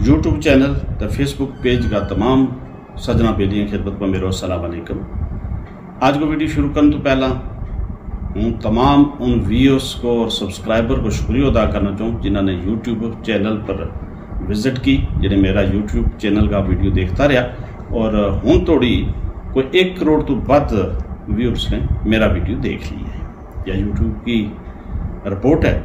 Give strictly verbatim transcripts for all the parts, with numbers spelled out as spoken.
یوٹیوب چینل تے فیس بک پیج کا تمام سجنا بیلیاں خدمت ما میرو السلام علیکم۔ آج کو ویڈیو شروع کرن تو پہلا ہوں تمام ان ویورز کو اور سبسکرائبر کو شکریہ ادا کرنا چاہوں، جنہاں نے یوٹیوب چینل پر وزٹ کی، جنہیں میرا یوٹیوب چینل کا ویڈیو دیکھتا رہیا اور ہوں توڑی کوئی ایک کروڑ تو ود ویورز نے میرا ویڈیو دیکھ لی ہے۔ یا یوٹیوب کی رپورٹ ہے۔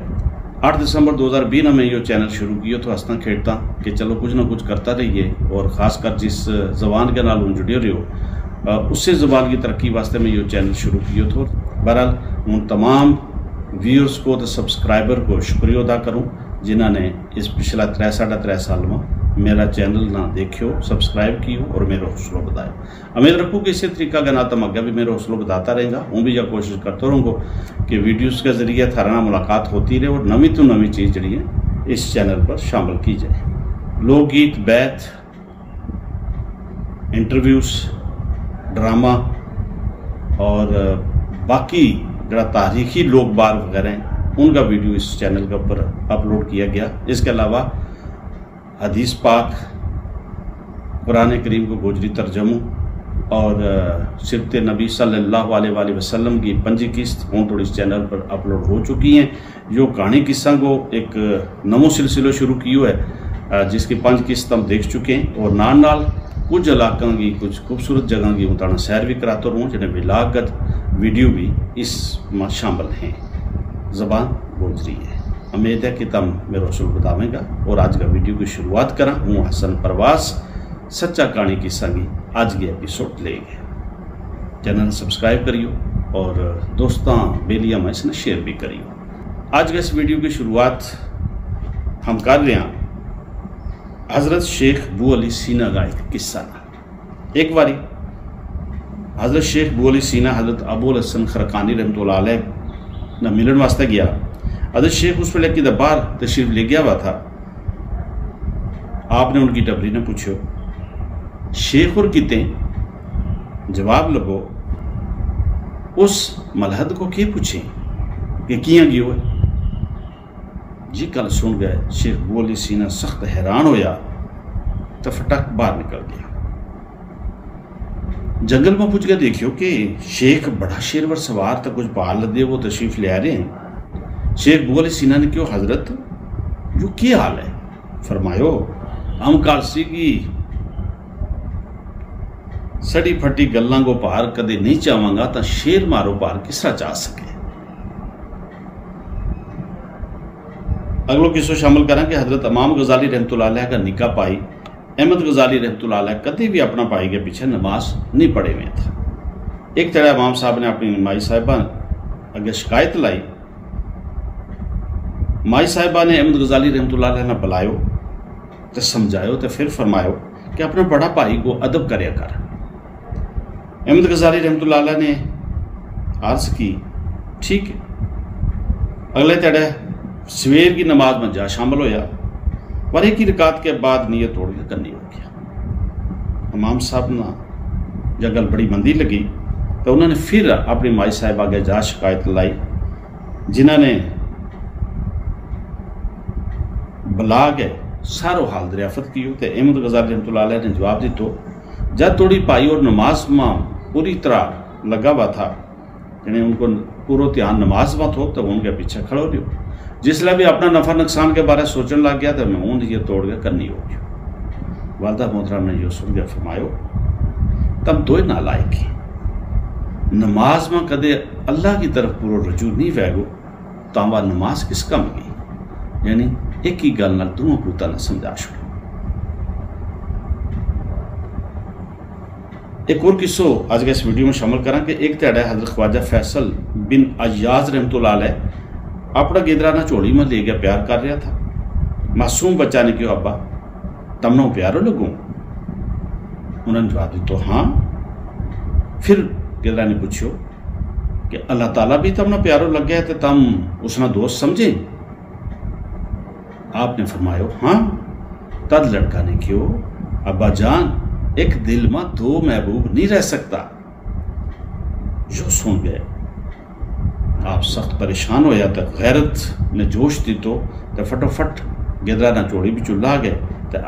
آٹھ دسمبر دو ہزار بیس نا میں یوہ چینل شروع کیو تھو ہستاں کھیڈتاں کہ چلو کچھ نہ کچھ کرتا رہیے، اور خاص کر جس زبان کے نال ہوں جڑیو رہیو، اسے زبان کی ترقی واسطے میں یوہ چینل شروع کیو تھو۔ بہرحال، ہوں تمام ویورز کو تے سبسکرائبر کو شکریہ ادا کروں، جنہاں نے اس پچھلا ترے ساڑھا ترے سال ما میرا چینل نا دیکھیو، سبسکرائب کیو اور میرو حوصلو بدھایو۔ امید رکھوں کہ اسے طریقہ کے نال تم اگے بھی میرو حوصلو بدھاتا رہیں گا۔ ہوں بھی یا کوشش کرتو رہوں گو کہ ویڈیوز کے ذریعے تھارا نال ملاقات ہوتی رہے اور نوی تو نوی چیز جڑی ہے اس چینل پر شامل کی جائے۔ لوک گیت، بیت، انٹرویوز، ڈرامہ اور باقی جڑا تاریخی لوک بار وغیرہ ہیں، ان کا ویڈیو اس چینل کے اوپر اپلوڈ کیا گیا۔ اس کے علاوہ حدیث پاک، قرآن کریم کو گوجری ترجموں اور سیرت نبی صلی اللہ علیہ وسلم کی پنجی قسط ہوں توڑی اس چینل پر اپلوڈ ہو چکی ہیں۔ یوہ کہانی قصہ کو ایک نوو سلسلو شروع کیو ہے، جس کی پنج قسط ہم دیکھ چکے ہیں اور نال نال کچھ علاقاں کی کچھ خوبصورت جگہاں کی ہوں تانا سیر بھی کراتو رہوں، جنہیں ولاگت ویڈیو بھی اس ما شامل ہیں۔ زبان گوجری ہے۔ امید ہے کہ تم میرو حوصلو بدھاویں گا۔ اور آج کا ویڈیو کی شروعات کراں ہوں حسن پرواز سچا کہانی قصہ کی آج کی ایپیسوڈ لے گئے۔ چینل سبسکرائب کریو اور دوستاں بیلیاں ما اس نے شیئر بھی کریو۔ آج کا اس ویڈیو کی شروعات ہم کر رہے ہیں حضرت شیخ بو علی سینا کا ایک قصہ نا۔ ایک واری حضرت شیخ بو علی سینا حضرت ابو الحسن خرقانی رحمت اللہ علیہ نا ملن واسطے گیا۔ حضرت شیخ اس ویلے کی دا باہر تشریف لے گیا ہوا تھا۔ آپ نے ان کی ڈبری نے پوچھو، شیخ اور کتیں جواب لبو، اس ملحد کو کے پوچھیں کہ کیاں گیو ہے؟ جی گل سن گئے شیخ بو علی سینا سخت حیران ہویا، تو فٹک باہر نکل گیا۔ جنگل ما پوچھ کے دیکھیو کہ شیخ بڑا شیر ور سوار تھا، کچھ پہاڑ لدے وہ تشریف لے آ رہے ہیں۔ شیخ بو علی سینا نے کہیو، حضرت، یوہ کی حال ہے؟ فرمایو، ہم کالسی کی سڑی پھٹی گلاں کو پار کدے نہیں چاہواں گا تاں شیر مارو پار کس طرح چاہ سکے؟ اگلو قصو شامل کراں کہ حضرت امام غزالی رحمت اللہ علیہ کا نکاح پائی احمد غزالی رحمت اللہ علیہ کدے بھی اپنا بھائی کے پیچھے نماز نہیں پڑھے ہوئے تھا۔ ایک تیرا امام صاحب نے اپنی مائی صاحبہ اگے شکایت لائی۔ مائی صاحبہ نے احمد غزالی رحمت اللہ علیہ نے بلایو، تے سمجھایو تے فر فرمایو کہ اپنا بڑا بھائی کو ادب کریا کر۔ احمد غزالی رحمت اللہ علیہ نے عرض کی، ٹھیک ہے۔ اگلے تیڑے سویر کی نماز ما جا شامل ہویا، پر ایک ہی رکعت کے بعد نیت توڑ کے کنی ہو گیا۔ امام صاحب نا جا گل بڑی مندی لگی، تو انہوں نے فر اپنی مائی صاحبہ کے جا شکایت لائی، جنہاں نے بلا کے سارو حال دریافت کیو تے احمد غزالی رحمت اللہ علیہ نے جواب دیتو، جد توڑی بھائی اور نماز ما پوری طرح لگا ہوا تھا، یعنی ان کو پورو دھیان نماز ما تھو تو ان کے پیچھے کھڑو رہیو۔ جس لے بھی اپنا نفع نقصان کے بارے سوچن لگ گیا تو میں اون یہ توڑ کے کنی ہو گیا۔ والدہ محترم نے یوہ سن کے فرمایو، تم دوئے نالائق ہیں۔ نماز ما کدے اللہ کی طرف پورو رجوع نہیں وھے گو، تاں واہ نماز کس کم گئی؟ یعنی ایک ہی گل نال دونوں پوتاں نا سمجھا چھوڑو۔ ایک اور قصو آج کا اس ویڈیو ما شامل کراں کہ ایک تیڑے حضرت خواجہ فیصل بن عیاض رحمت اللہ علیہ اپنا گدرا نا جھولی ما لے گیا پیار کر رہیا تھا۔ معصوم بچہ نے کہیو، ابا، تم نا پیارو لگوں؟ انہوں نے جواب دیتو، ہاں۔ فر گدرا نے پوچھیو کہ اللہ تعالی بھی تم نا پیارو لگے تے تم اس نا دوست سمجھیں؟ آپ نے فرمایو، ہاں۔ تد لڑکا نے کہیو، ابا جان، ایک دل ما دو محبوب نہیں رہ سکتا۔ یوہ سن گئے آپ سخت پریشان ہویا تے غیرت نے جوش دیتو تے فٹو فٹ گدرا نا جھولی بچو لا گئے۔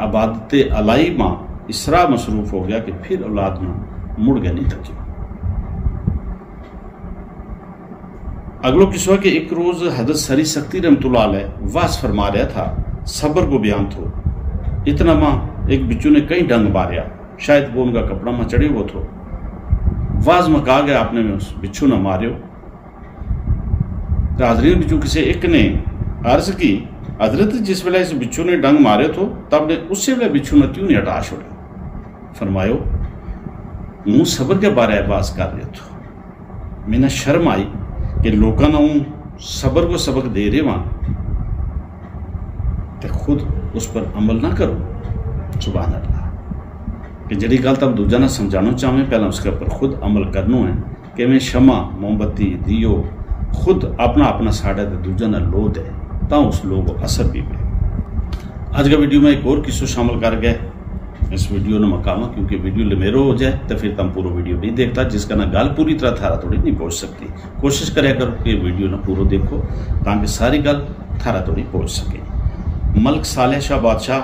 عبادت الائی ما اس طرح مصروف ہو گیا کہ پھر اولاد نا مڑ گیا نہیں تکیو۔ اگلو قصو ہے کہ ایک روز حضرت سری سختی رحمت اللہ علیہ واز فرما رہیا تھا۔ صبر کو بیان تھو۔ اتنا ما ایک بچو نے کئی ڈنگ ماریا۔ شاید وہ ان کا کپڑا ما چڑھے ہوئے تھو۔ واز ما کہا گیا آپ نے میں اس بچو نا ماریو۔ تو حاضرین بچو کسے ایک نے عرض کی، حضرت جس ویلے اس بچو نے ڈنگ ماریو تھو تب نے اسی ویلے بچو نا کیوں نہیں ہٹا چھوڑے؟ فرمایو، ہوں صبر کے بارے باز کر رہے تھو۔ میں نا شرم آئی کہ لوکاں نا ہوں صبر کو سبق دے رہے ہاں، تے خود اس پر عمل نہ کروں۔ سبحان اللہ۔ کہ جڑی گل تم دوجا نا سمجھانو چاہویں پہلا اس کے پر خود عمل کرنو ہے۔ کہ میں شمع، موم بتی، دیو خود اپنا اپنا ساڑے تے دوجا نا لو دے، تاں اس لو کو اثر بھی پے۔ اج کا ویڈیو میں ایک اور قصو شامل کر گئے۔ اس ویڈیو نا مکاواں کیونکہ ویڈیو لمیرو ہو جائے تو پھر تم پورو ویڈیو نہیں دیکھتا، جس کا نا گل پوری طرح تھارا تھوڑی نہیں پہنچ سکتی۔ کوشش کریا کرو کہ ویڈیو نا پورو دیکھو، تاکہ ساری گل تھارا تھوڑی پہنچ سکے۔ ملک صالح شاہ بادشاہ،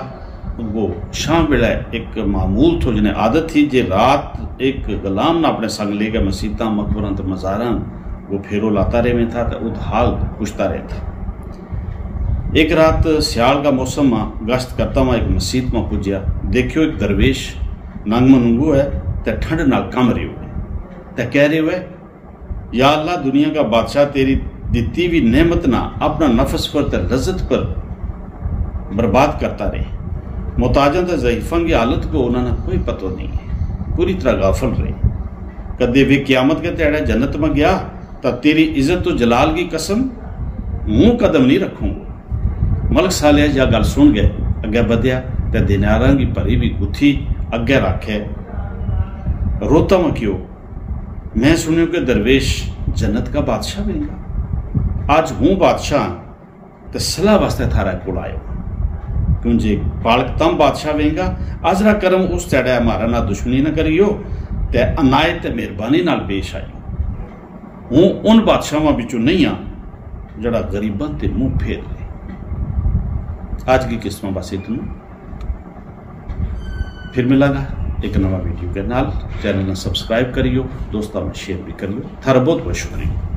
وہ شام ویلے ایک معمول تھو جنہیں عادت تھی جے رات ایک غلام نا اپنے سنگ لے کے مسیتاں مقبراں تے مزاراں وہ پھیرو لاتا رہے میں تھا تے ات حال پوچھتا رہے تھا۔ ایک رات سیال کا موسم ما گشت کرتا ہوا ایک مسیت ما پجیا، دیکھیو ایک درویش ننگ منگو ہے، تے ٹھنڈ نال کم رہیو ہے، تے کہہ رہیو ہے، یا اللہ، دنیا کا بادشاہ تیری دتی ہوئی نعمت نا اپنا نفس پر تے لذت پر برباد کرتا رہے۔ محتاجاں تے ضعیفاں کی حالت کو انہاں نا کوئی پتو نہیں ہے، پوری طرح غافل رہے۔ کدے وی قیامت کے تیڑے جنت ما گیا، تاں تیری عزت و جلال کی قسم، ہوں قدم نہیں رکھوں گو۔ ملک صالح یا گل سن گئے، اگے بدھیا، تے دیناراں کی بھری وی گتھی اگے رکھے، روتا ما کہیو، میں سنیو کہ درویش جنت کا بادشاہ وینگا۔ اج ہوں بادشاہ، تے صلاح واسطے تھارا کول آیو۔ کیوں جے پالک تم بادشاہ وینگا، ازرا کرم اس تیڑے ہمارا نا دشمنی نہ کریو، تے عنایت تے مہربانی نال پیش آیو۔ ہوں ان بادشاہاں بچوں نہیں ہاں، جڑا غریباں تے منہ پھیر لے۔ اج کی قسطاں بس اتنو۔ پھر ملاں گا ایک نواں ویڈیو کے نال۔ چینل نا سبسکرائب کریو، دوستاں میں شیئر بھی کریو۔ تھارا بہت بہت شکریہ۔